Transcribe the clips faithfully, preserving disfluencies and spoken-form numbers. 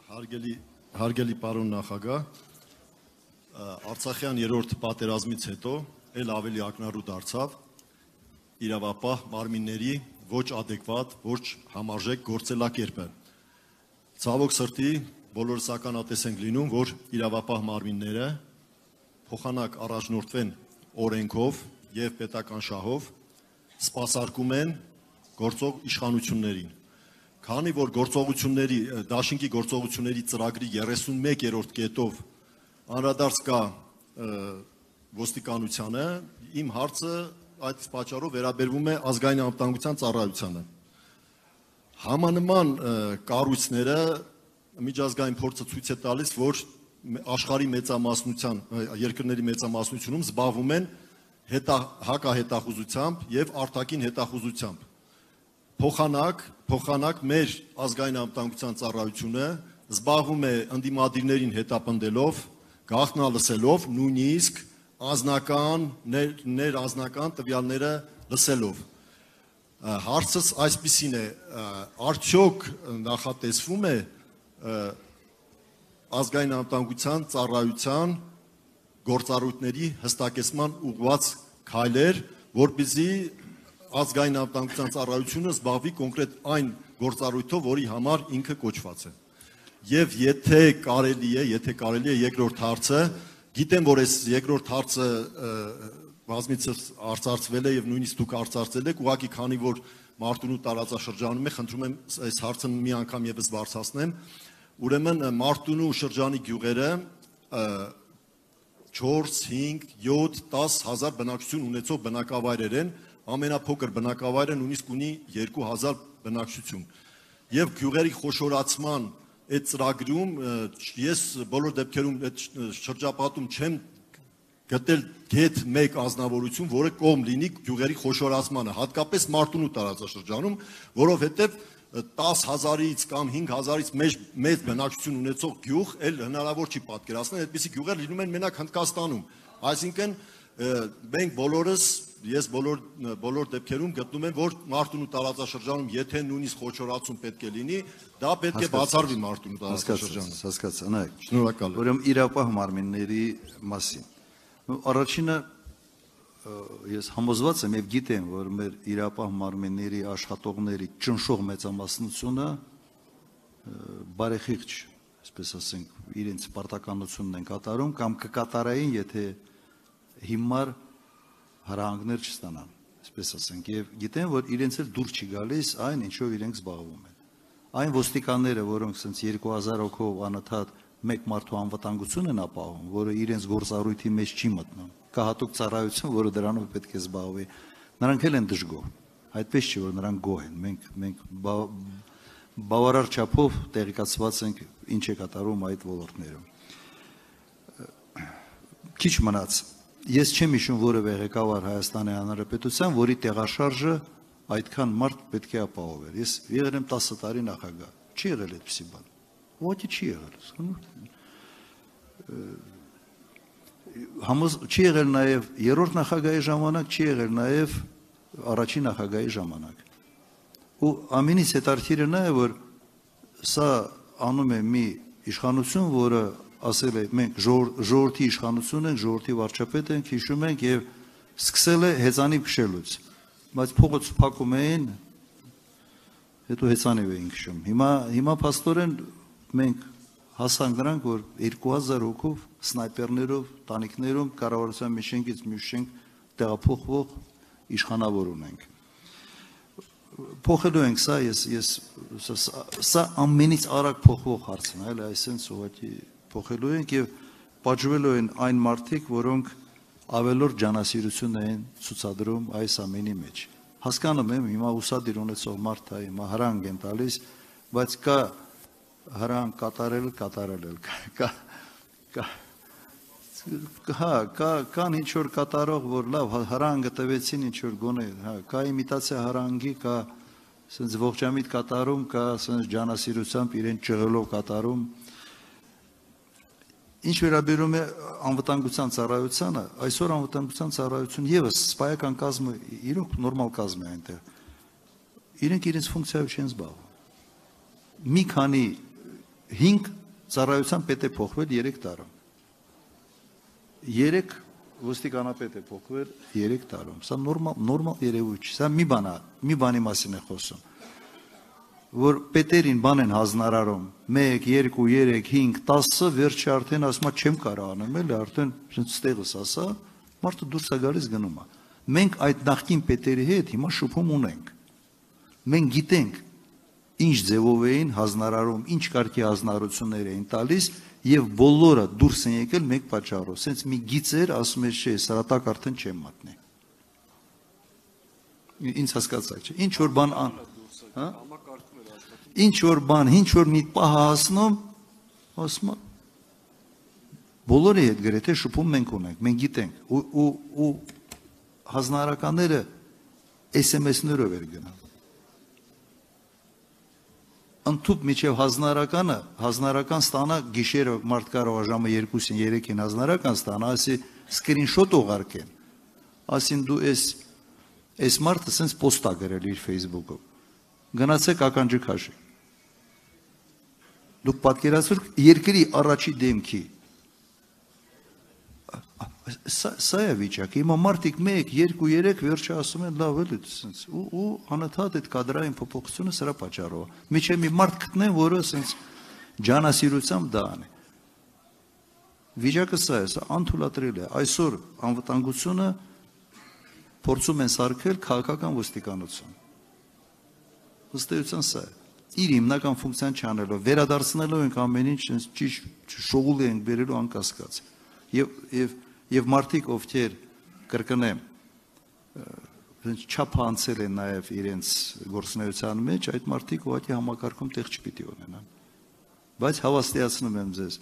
Հարգելի հարգելի պարոն նախագահ, Արցախյան երրորդ պատերազմից հետո ել ավելի ակնառու դարձավ իրավապահ մարմինների ոչ adekvat, ոչ համարժեք գործելակերպը։ Ցավոք սրտի բոլորս ականատես ենք լինում, որ իրավապահ մարմինները փոխանակ առաջնորդվեն օրենքով եւ պետական շահով, սպասարկում են գործող իշխանություններին։ Քանի որ գործողությունների դաշինքի գործողությունների ծրագրի երեսունմեկերորդ կետով անդրադարձ կա ոստիկանությանը, իմ հարցը այդ պատճառով վերաբերվում է ազգային անվտանգության ծառայությանը։ Համանման կառույցները միջազգային փորձը ցույց է տալիս, որ աշխարհի մեծամասնության երկրների մեծամասնությունում զբաղվում են հակահետախուզությամբ եւ արտաքին հետախուզությամբ։ Փոխանակ, փոխանակ մեր ազգային անվտանգության ծառայությունը զբաղվում է ընդդիմադիրներին հետապնդելով, գաղտնալսելով, նույնիսկ անձնական, ներանձնական տվյալները լսելով։ Հարցս այսպիսին է, արդյոք նախատեսվում է ազգային անվտանգության ծառայության գործառույթների հստակեցման ուղղված քայլեր, որպեսզի ազգային անվտանգության ծառայությունը զբաղվի կոնկրետ այն գործառույթով, որի համար ինքը կոչված է։ Եվ եթե կարելի է, եթե կարելի է երկրորդ հարցը, գիտեմ, որ այս երկրորդ հարցը բազմիցս արծարծվել է եւ նույնիսկ դուք արծարծել եք, ուղղակի քանի որ Մարտունու տարածաշրջանում է, խնդրում եմ այս հարցը մի անգամ եւս բարձրացնեմ։ Ուրեմն Մարտունու շրջանի գյուղերը չորս, հինգ, յոթ, դաս հազար բնակչություն ունեցող բնակավայրեր են, ամենափոքր բնակավայրը նույնիսկ ունի երկու հազար բնակչություն։ Եվ գյուղերի խոշորացման այդ ծրագրում ես բոլոր դեպքերում այդ շրջապատում չեմ գտել գեթ մեկ անձնավորություն, որը կողմ լինի գյուղերի խոշորացմանը, հատկապես Մարտունու տարածաշրջանում, որովհետև տաս հազարից կամ հինգ հազարից մեծ բնակչություն ունեցող գյուղ էլ հնարավոր չի պատկերացնել, այդպիսի գյուղեր լինում են մենակ Հնդկաստանում։ Այսինքն մենք բոլորս, ես բոլոր բոլոր դեպքերում գտնում եմ, որ Մարտունու տարածաշրջանում, եթե նույնիսկ խոշորացում պետք է լինի, դա պետք է բացառվի Մարտունու տարածաշրջանում։ Հասկացա, նայեք։ Շնորհակալ եմ։ Ուրեմն իրավապահ մարմինների մասին։ Առաջինը ես համոզված եմ եւ գիտեմ, որ մեր իրավապահ մարմինների աշխատողների ճնշող մեծամասնությունը բարեխիղճ, այսպես ասենք, իրենց պարտականությունն են կատարում կամ կկատարային, եթե հիմար հրահանգներ չստանան, այսպես ասենք, եւ գիտեմ, որ իրենց էլ դուր չի գալիս այն, ինչով իրենք զբաղվում են։ Այն ոստիկանները, որոնք ասենց երկու հազար հոգով անընդհատ մեկ մարդու անվտանգություն են ապահովում, որը իրենց գործառույթի մեջ չի մտնում, կա հատուկ ծառայություն, որը դրանով պետք է զբաղվի, նրանք էլ են դժգոհ, այդպես չի, որ նրանք գոհ են, մենք մենք բավարար չափով տեղեկացված ենք ինչ է կատարում այդ ոլորտներում։ Քիչ մնաց, ես չեմ հիշում որևէ ղեկավար Հայաստանի Հանրապետության, որի տեղաշարժը այդքան մարդ պետք է ապահովեր։ Ես եղել եմ տասը տարի նախագահ, չի եղել այդպիսի բան։ Ոչինչ չի եղել։ Համոզ չի եղել նաև երրորդ նախագահի ժամանակ, չի եղել նաև առաջին նախագահի ժամանակ։ Ու ամենից հետաքրքիրը նա է, որ սա անում է մի իշխանություն, որը ասել է մենք ժողովրդի իշխանություն ենք, ժողովրդի վարչապետ ենք, հիշում ենք եւ սկսել է հեծանիվ քշելուց, բայց փողոց փակում էին, հետո հեծանիվ էին քշում։ Հիմա հիմա փաստորեն մենք հասանք նրանք, որ երկու հազար հոգով սնայպերներով, տանիքներով կառավարության մի շենքից մյուս շենք տեղափոխվող իշխանավոր ունենք։ Փոխելու ենք սա, ես ես սա ամենից արագ փոխվող հարցն է, այլ այսպես ուղղակի փոխելու ենք եւ պատժվելու են այն մարդիկ, որոնք ավելորդ ջանասիրություն են ցուցադրում այս ամենի մեջ։ Հասկանում եմ, հիմա ուսադիր ունեցող մարդ է, հիմա հրանք են տալիս, բայց կա հրանք կատարել, կատարել կա հա, կա կան ինչ որ կատարող, որ լավ հրանգը տվեցին ինչ որ գոնե, հա, կա իմիտացիա հրանգի, կա ասենց ողջամիտ կատարում, կա ասենց ջանասիրությամբ իրեն ճղելով կատարում։ Ինչ վերաբերում է անվտանգության ծառայությանը, այսօր անվտանգության ծառայություն եւս սպայական կազմը իրոք նորմալ կազմ է այնտեղ։ Իրենք իրենց ֆունկցիայով չեն զբաղվում։ Մի քանի հինգ ծառայության պետ է փոխվել երեք տարում։ երեք ոստիկանապետ է փոխվել երեք տարում։ Սա նորմալ նորմալ երևույթ չէ։ Սա մի բան է, մի բանի մասին է խոսում։ Որ պետերին բան են հանձնարարում մեկ, երկու, երեք, հինգ, տասը, վերջը արդեն ասում է չեմ կարող անեմ, էլի արդեն ստեղս ասա, մարդը դուրս է գալիս գնում է։ Մենք այդ նախկին պետերի հետ հիմա շփում ունենք։ Մենք գիտենք ինչ ձևով էին հանձնարարում, ինչ կարգի հանձնարարություններ էին տալիս եւ բոլորը դուրս են եկել մեկ պատճառով։ Սենց մի գիծեր ասում է չէ, սրատակ արդեն չեմ մատնի։ Ինչ հասկացա, չէ։ Ինչ որ բան, հա? Ինչ որ բան, ինչ որ մի պահ հասնում, ասում է բոլորի հետ գրեթե շփում մենք ունենք, մենք գիտենք ու ու ու հանձնարարականները էս էմ էս-ներով էր գնում։ Ընդཐུպ միջև հանձնարարականը, հանձնարարական ստանա գիշերը մարդ կարող է ժամը երկուսին, երեքին հանձնարարական ստանա, ասի սկրինշոտ ուղարկեն։ Ասին դու էս էս մարդը սենց պոստա գրել իր Facebook-ով։ Գնացեք ականջը քաշի։ Դուք պատկերացրեք երկրի առաջի դեմքի։ Սա է վիճակը։ Հիմա մարդիկ մեկ, երկու, երեք վերջը ասում են լավ էլի սենց ու ու անընդհատ այդ կադրային փոփոխությունը սրա պատճառով։ Միջև մի մարդ գտնեն, որը սենց ջանասիրությամբ դա անի։ Վիճակը սա է, սա անթույլատրելի է։ Այսօր անվտանգությունը փորձում են սարքել քաղաքական ոստիկանություն։ Ըստ էության սա է։ Իր հիմնական ֆունկցիան չանելով, վերադարձնելով ենք ամեն ինչ ճիշտ շողուլի ենք բերելու անկասկած։ Եվ եւ եւ մարդիկ ովքեր կրկնեմ չափ անցել են նաեւ իրենց գործունեության մեջ, այդ մարդիկ ուղղակի համակարգում տեղ չպիտի ունենան։ Բայց հավաստիացնում եմ ձեզ,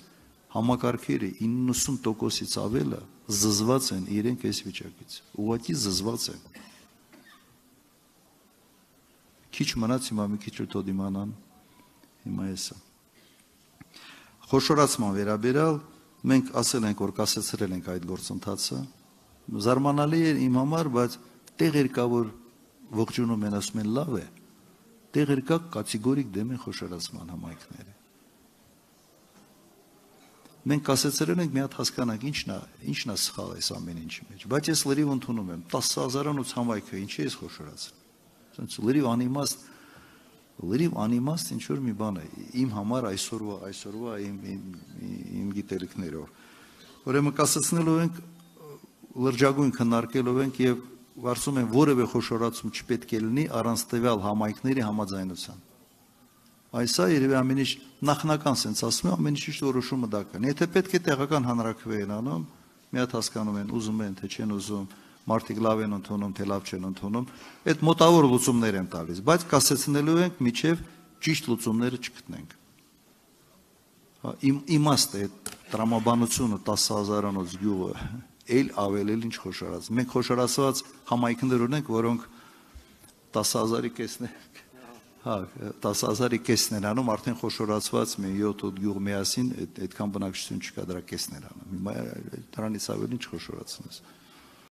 համակարգերը իննսուն տոկոսից ավելը զզված են իրենք այս վիճակից։ Ուղղակի զզված են։ Քիչ մնաց հիմա մի քիչ ուտո դիմանան, հիմա էսա։ Խոշորացման վերաբերյալ մենք ասել ենք, որ կասեցրել ենք այդ գործընթացը, զարմանալի էր իմ համար, բայց տեղեր կա, որ ողջունում են, ասում են լավ է, տեղեր կա կատեգորիկ դեմ են խոշորացման համայնքները։ Մենք կասեցրել ենք, մի հատ հասկանանք, ինչն է, ինչն է սխալ այս ամեն ինչի մեջ, բայց ես լրիվ ընդունում եմ, տասը հազարանոց համայնքը ինչի է խոշորացել։ Լրիվ անիմաստ, լրիվ անիմաստ ինչ-որ մի բան է, իմ համար այսօրվա, այսօրվա իմ, իմ, իմ գիտելիքներով։ Ուրեմն կասեցնելով ենք, լրջագույն քննարկելով ենք և վարսում են որևէ խոշորացում չպետք է լինի առանց տվյալ համայնքների համաձայնության։ Այսա երևի ամեն ինչ նախնական սենց ասում է, ամեն ինչ որոշումը դա կան։ Եթե պետք է տեղական հանրաքվե են անում, մի հատ հասկանում են, ուզում են, թե չեն ուզում, մարդիկ լավ են ընդունում, թե լավ չեն ընդունում, այդ մոտավոր լուծումներ են տալիս, բայց կասեցնելու ենք միջև ճիշտ լուծումները չգտնենք։ Իմաստ է այդ տրամաբանությունը տասը հազարանոց գյուղը, էլ ավել էլ ինչ խոշորած։ Մենք խոշորացված համայնքներ ունենք, որոնք տասը հազարի կեսն են, հա, տասը հազարի կեսն են անում, արդեն խոշորացված մի յոթ-ութ գյուղ միասին այդքան բնակչություն չկա, դրա կեսն են անում։ Հիմա դրանից ավել ինչ խոշորացնես։